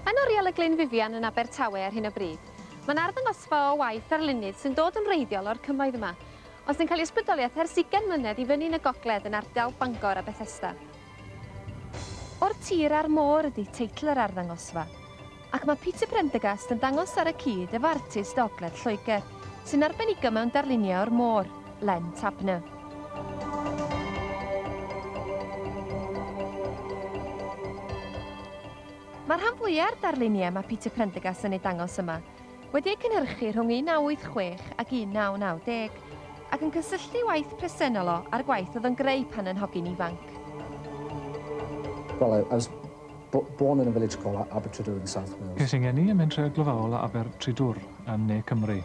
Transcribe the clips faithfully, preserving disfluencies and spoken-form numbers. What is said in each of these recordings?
Yn Oriel y Glynn Vivian yn Abertawe ar hyn o bryd, mae'n arddangosfa o waith arlunydd sy'n dod yn wreiddiol o'r cymoedd yma, ond sy'n cael ei ysbrydoliaeth ers ugain mlynedd i fyny yn y gogledd yn ardal Bangor a Bethesda. O'r tir a'r môr ydy teitl yr arddangosfa, ac mae Peter Prendergast yn dangos ar y cyd efo artist ogledd Lloegr, sy'n arbenigo mewn darlunio o'r môr, Len Tabner. Mae'r rhan fwyaf o'r darluniau mae Peter Prendergast yn ei dangos yma wedi eu cynhyrchu rhwng un naw wyth chwech ac un naw naw deg ac yn cysylltu waith presennol o a'r gwaith oedd yn greu pan yn hogyn ifanc. Well, I, I was born in a village called Abertridwr in South Wales. Ces i'n geni ym mhentre glofaol Abertridwr yn Ne Cymru.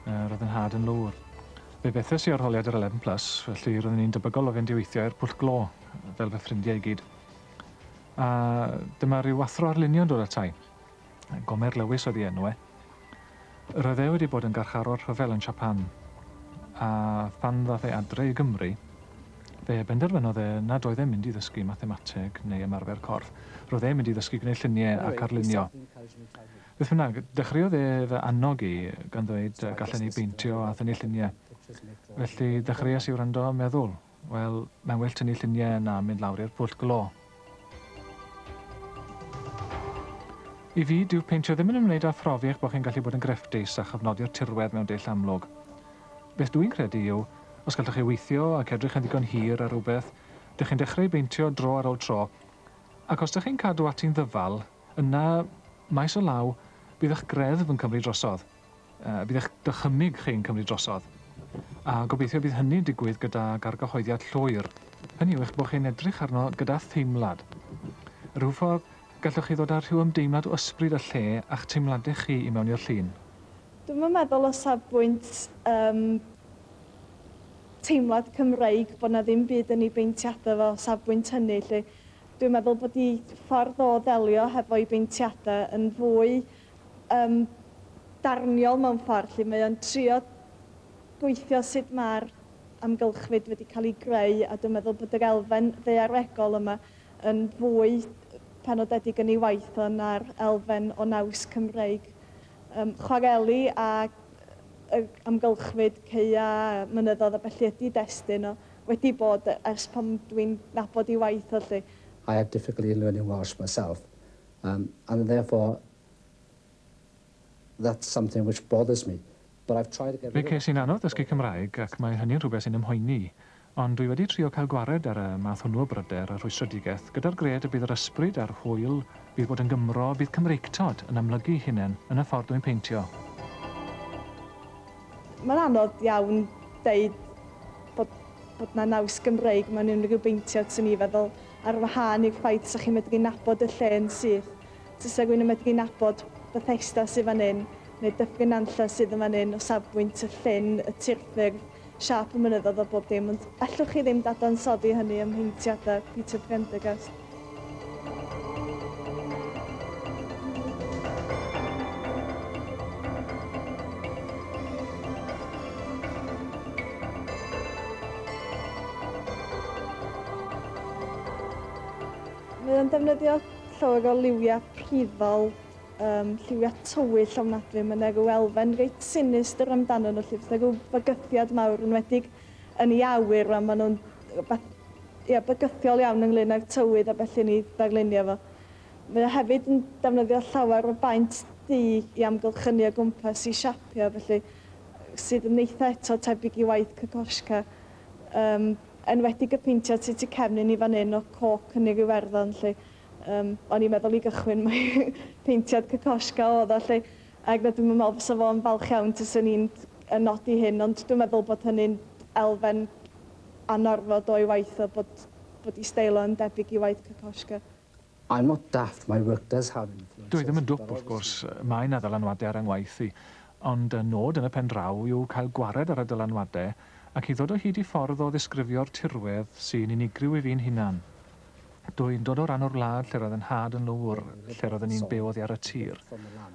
Roedd yn nhad yn lwr. Fe fethes i arholiad yr eleven plus, felly roeddwn i'n debygol o fynd i weithio i'r pwll glo, fel fy ffrindiau i gyd. A dyma rhyw athro arlunio'n dod atai. Gomer Lewis oedd ei enw e. Roedd e wedi bod yn garcharor rhyfel yn Japan. A phan ddath e adre i Gymru, fe benderfynodd e nad oedd e'n mynd i ddysgu mathemateg neu ymarfer corff. Roedd e'n mynd i ddysgu gwneud lluniau ac arlunio. Beth bynnag, dechreuodd e fy annog i gan ddweud gallen ni beintio a thynnu lluniau. Felly dechreuais i wrando a meddwl, wel, mae'n well tynnu lluniau na mynd lawr i'r pwll glo. I fi, dyw peintio ddim yn ymwneud â phrofi eich bod chi'n gallu bod yn grefftus a chyfnodi'r tirwedd mewn dull amlwg. Beth dwi'n credu yw, os gallwch chi weithio ac edrych yn ddigon hir ar rhywbeth, dych chi'n dechrau beintio dro ar ôl tro, ac os dych chi'n cadw ati'n ddyfal, yna, maes o law, bydd eich greddf yn cymryd drosodd. Uh, bydd eich dychymyg chi'n cymryd drosodd. A gobeithio bydd hynny'n digwydd gyda gargyhoeddiad llwyr. Hynny yw eich bod chi'n edrych arno gyda theimlad. Rhyw ffordd, gallwch chi ddod â rhyw ymdeimlad o ysbryd y lle a'ch teimladau chi i mewn i'r llun. Dwi'm yn meddwl o safbwynt um, teimlad Cymreig bod na ddim byd yn ei beintiadau fo safbwynt hynny. Lle. Dwi'n meddwl bod ei ffordd o ddelio hefo'i beintiadau yn fwy um, darniol mewn ffordd. Lle mae o'n trio gweithio sut mae'r amgylchfyd wedi cael ei greu, a dwi'n meddwl bod yr elfen ddaearegol yma yn fwy penodedig yn ei waith o na'r elfen o naws Cymreig. Um, chwareli a amgylchfyd, ceia, mynyddoedd a felly ydy destun o wedi bod ers pan dwi'n nabod ei waith o lle. I had difficulty in learning Welsh myself, um, and therefore that's something which bothers me. But I've tried to get Fe rid of ces i'n anodd dysgu Cymraeg ac mae hynny'n rhywbeth sy'n ymhoeni. Ond dwi wedi trio cael gwared ar y math hwnnw o bryder a rhwystredigaeth gyda'r gred y bydd yr ysbryd a'r hwyl, bydd bod yn Gymro, bydd Cymreictod yn amlygu hunain yn y ffordd dwi'n peintio. Mae'n anodd iawn deud bod, bod na naws Gymreig mewn unrhyw beintiad sy'n i feddwl ar wahân i'r ffaith sa chi'n medru nabod y lle yn syth. Tysa rhywun yn medru nabod Bethesda sydd fan hyn, neu Dyffryn Nantlle sydd yn fan hyn o safbwynt y llyn, y tirffurf, siâp y mynyddoedd o bob dim, ond allwch chi ddim dadansoddi hynny ym mheintiadau Peter Prendergast. Mae o'n defnyddio llawer o liwiau priddol, um, lliwiau tywyll ofnadwy. Mae yna rhyw elfen reit sinistr amdano nhw, lle fydd yna rhyw bygythiad mawr, enwedig yn ei awyr, a maen nhw'n rywbeth, ia, bygythiol iawn ynglyn â'r tywydd a felly ni ddarlunio fo. Mae o hefyd yn defnyddio llawer o baent du i amgylchynu o gwmpas i siapio, felly sydd yn eitha eto tebyg i waith Kokoschka. Um, enwedig y peintiad sydd tu cefn i ni fan hyn o coc yn yr Iwerddon, lle um, o'n i'n meddwl i gychwyn mai peintiad Kokoschka oedd o, lle, ac na dwi'n meddwl fysa fo'n falch iawn tyswn i'n yn nodi hyn, ond dwi'n meddwl bod hynny'n elfen anorfod o'i waith o, bod, bod ei steil o'n debyg i waith Kokoschka. I'm not daft, my work does have influences. Dwi ddim yn dwp, wrth gwrs, mae yna ddylanwadau ar 'y ngwaith i, ond y nod yn y pen draw yw cael gwared ar y dylanwadau ac i ddod o hyd i ffordd o ddisgrifio'r tirwedd sy'n unigryw i fi'n hunan. Dwi'n dod o ran o'r wlad lle roedd yn nhad yn lwr, lle roedden ni'n byw oddi ar y tir.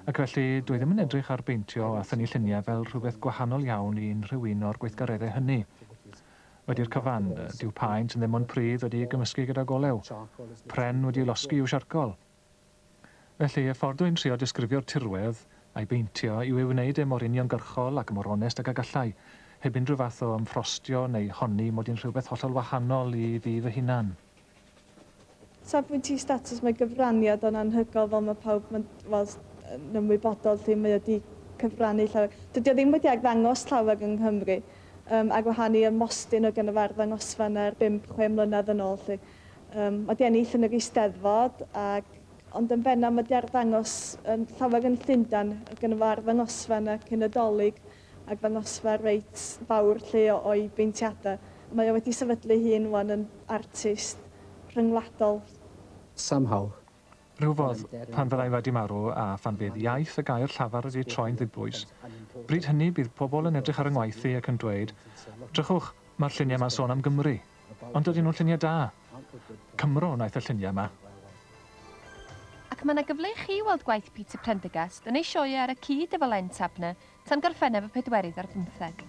Ac felly dwi ddim yn edrych ar beintio a thynnu lluniau fel rhywbeth gwahanol iawn i unrhyw un o'r gweithgareddau hynny. Wedi'r cyfan, dyw paent yn ddim ond pridd wedi'i gymysgu gyda golew. Pren wedi'i losgi i'w siarcol. Felly, y ffordd dwi'n trio disgrifio'r tirwedd a'i beintio yw ei wneud e mor uniongyrchol ac mor onest ag y gallai, heb unrhyw fath o ymffrostio neu honni mod i'n rhywbeth hollol wahanol i fi fy hunan. Safbwynt i statws, mae gyfraniad o'n anhygoel, fel mae pawb yn, wel, yn ymwybodol lle mae wedi cyfrannu llawer. Dydy o ddim wedi arddangos llawer yng Nghymru, um, ar wahân i ym Mostyn o gynno fe arddangosfa yna bump chwe mlynedd yn ôl. Lle. Um, mae wedi ennill yn yr Eisteddfod, ac, ond yn bennaf mae wedi arddangos yn llawer yn Llundain, gynno fe arddangosfa yna cyn y Dolig, ac ddangosfa reit fawr lle o'i beintiadau. Mae o wedi sefydlu hun wan yn artist rhyngwladol. Somehow, Rhyw fodd, pan fyddai wedi marw a phan fydd iaith y gair llafar wedi troi'n ddibwys, bryd hynny bydd pobl yn edrych ar yng ngwaith i ac yn dweud, "Drychwch, mae'r lluniau yma'n sôn am Gymru. Ond dydyn nhw'n lluniau da. Cymro wnaeth y lluniau yma." Ac mae yna gyfle i chi weld gwaith Peter Prendergast yn ei sioe ar y cyd efo Len Tabner tan Gorffennaf y pedwerydd ar bymtheg.